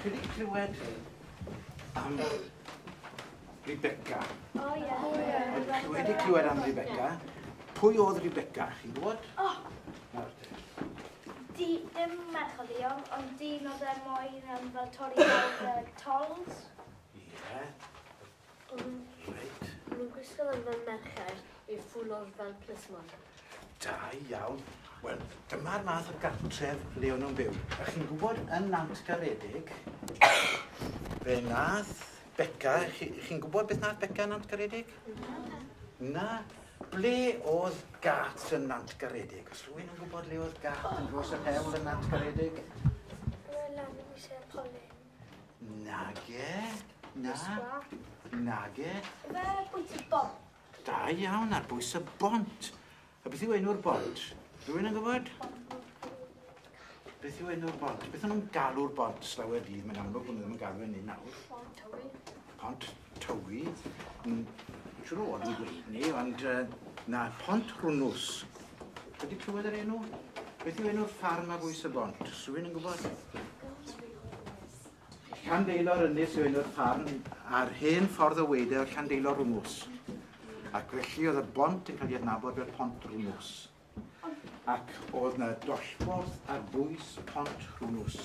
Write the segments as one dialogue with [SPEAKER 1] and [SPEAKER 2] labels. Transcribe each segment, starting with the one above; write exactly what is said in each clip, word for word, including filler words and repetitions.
[SPEAKER 1] Chi wedi clywed am Rebecca?
[SPEAKER 2] O ie.
[SPEAKER 1] Chi wedi clywed am Rebecca? Pwy oedd Rebecca? Chi'n gwybod?
[SPEAKER 2] O,
[SPEAKER 1] Nawr te.
[SPEAKER 2] di, dim merch oedd hi, ond ond dyn oedd e moyn um, fel torri lawr y tolls.
[SPEAKER 1] Ie, reit.
[SPEAKER 3] Nhw'n gwisgo fel fel merched i ffwlo'r fel plismon.
[SPEAKER 1] Da iawn. Wel, dyma'r math o gartref le o'n nhw'n byw. A chi'n gwybod yn Nantgaredig, fe nath Beca, chi- chi'n gwybod beth nath Beca yn Nantgaredig? Na. Ble oedd gat yn Nantgaredig? Os rhywun yn gwybod le oedd gat yn dros yr hewl yn Nantgaredig?
[SPEAKER 2] Lan yn eisiau Colin.
[SPEAKER 1] Nage. Na. Nage.
[SPEAKER 2] Fe bwys y bont.
[SPEAKER 1] Da iawn, ar bwys y bont. A beth yw enw'r bont? Rhywun yn gwybod? Beth yw enw'r bont? Beth o'n nhw'n galw'r bont slawer dydd? Mae'n amlwg bod nhw ddim yn galw hynny nawr.
[SPEAKER 3] Pont Tywi.
[SPEAKER 1] Pont Tywi. Mm, Siŵr o fod yn gweud ni, ond uh, na, Pont Rwnws. Wedi clywed yr enw? Beth yw enw'r ffarm ar bwys y bont? Oes rhywun yn gwybod? Llandeilo Ynys yw enw'r ffarm a'r hen ffordd o weud e oedd Llandeilo Rwnws. Ac felly oedd y bont yn cael ei adnabod fel Pont Rwnws. Ac oedd na dollborth ar bwys Pont Rwnws.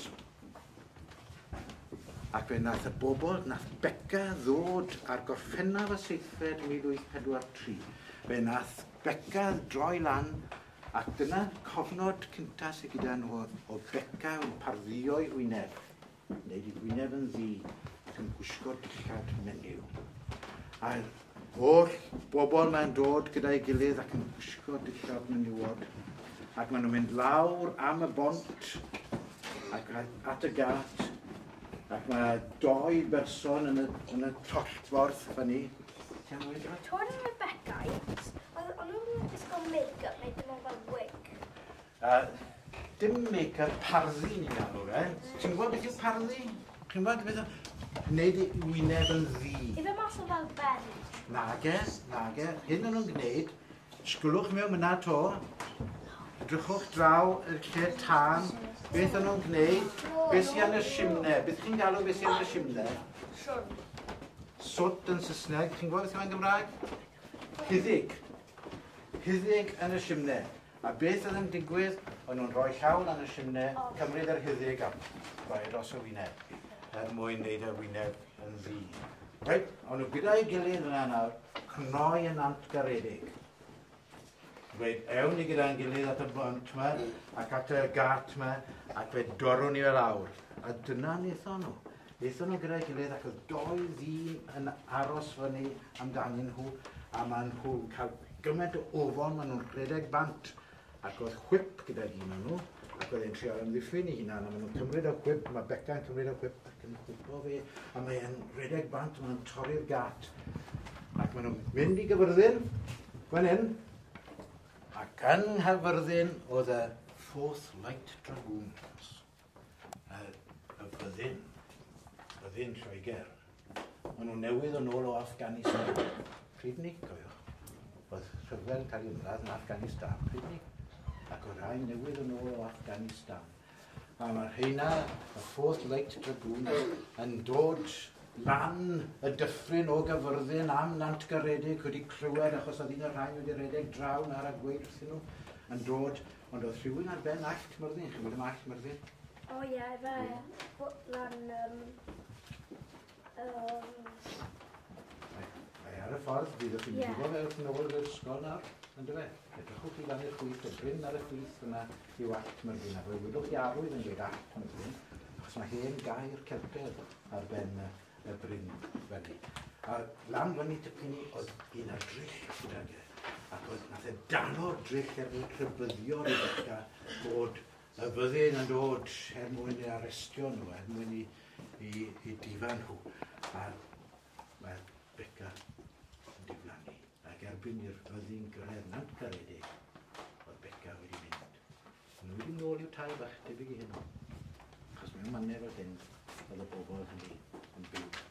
[SPEAKER 1] Ac fe nath y bobl, nath Beca ddod ar Gorffennaf y seithfed mil wyth pedwar tri. Fe nath Beca droi lan, ac dyna cofnod cynta sydd gyda nhw o Beca yn pardduo'i wyneb, wneud ei wyneb yn ddu ac yn gwisgo dillad menyw. A'r holl bobl mae'n dod gyda'i gilydd ac yn gwisgo dillad menywod. Ac maen nhw'n mynd lawr am y bont ac at y gat. Ac mae dou berson yn y, yn y tollborth fyny. Ti am weud rhywbeth?
[SPEAKER 2] Tw'n Rebecca, oedd o'n nhw'n gwisgo make-up neu dim ond fel wig?
[SPEAKER 1] Uh, dim make-up, parddu ni'n galw fe. Ti'n gwybod beth yw parddu? Chi'n gwybod beth yw? Wneud i wyneb yn ddu.
[SPEAKER 2] Ife mas o fel berry?
[SPEAKER 1] Nage, nage. Hyn o'n nhw'n gwneud, sgwlwch mewn myna to, edrychwch draw y lle tân, beth o'n nhw'n gwneud, beth sy'n yn y simne, beth chi'n galw beth sy'n yn y simne? Soot yn Saesneg, chi'n gwybod beth yw'n Gymraeg? Huddug. Huddug yn y simne. A beth oedd yn digwydd, o'n nhw'n rhoi llaw lan y simne, cymryd yr huddug a rhoi e dros y wyneb, er mwyn wneud y wyneb yn ddu. Reit, o'n nhw gyda'i gilydd yna nawr, cnoi yn Nantgaredig. Dweud, ewn ni gyda'n gilydd at y bont yma, ac at y gat yma, ac fe dorwn ni fe lawr. A dyna wnaethon nhw. Wnaethon nhw gyda'i gilydd ac oedd dou ddyn yn aros fyny amdanyn nhw, a maen nhw'n cael gymaint o ofon, maen nhw'n rhedeg bant. Ac oedd chwip gyda un o'n nhw, ac oedd e'n trio amddiffyn ei hunan, a maen nhw'n cymryd y chwip, mae Beca yn cymryd y chwip ac yn chwipo fe, a mae'n rhedeg bant, maen nhw'n torri'r gat. Ac maen nhw'n mynd i Gyfyrddin, fan hyn, ac yng Nghaerfyrddin oedd y Fourth Light Dragoons, y, y fyddin, fyddin Lloegr. Maen nhw newydd yn ôl o Afghanistan. Pryd ni, cofiwch, oedd rhyfel yn cael ei ymladd yn Afghanistan, pryd ni. Ac oedd rhai newydd yn ôl o Afghanistan. A mae'r rheina, y Fourth Light Dragoons, yn dod lan y dyffryn o Gyfyrddin am Nantgaredig wedi clywed achos oedd un o'r rhai wedi rhedeg draw nawr a gweud wrthyn nhw yn dod, ond oedd rhywun ar ben Allt Myrddin, chi'n gwybod am Allt Myrddin?
[SPEAKER 2] O ie, fe lan... Um, um,
[SPEAKER 1] Mae ar y ffordd, fyddwch chi'n
[SPEAKER 2] Ie.
[SPEAKER 1] gwybod fe wrth nôl i'r ysgol nawr, on'd yfe? Edrychwch chi lan i'r chwith, y bryn ar y chwith yna yw Allt Myrddin, a fe welwch chi arwydd yn dweud Allt Myrddin, achos mae hen gaer Celtaidd ar ben y, y bryn fyny. A lan fyny tipyn ni oedd un ar dryll gydag e, ac oedd nath e dano'r dryll er mwyn rhybuddio Rebecca bod y fyddin yn dod er mwyn i arestio nhw, er mwyn i, i, i difa nhw. A mae Beca yn diflannu. Ac erbyn i'r fyddin gyrraedd Nantgaredig, oedd Beca wedi mynd. Maen nhw wedi nôl i'w tai bach debyg i hyn. Achos mewn mannau fel hyn, oedd y bobl hynny yn byw.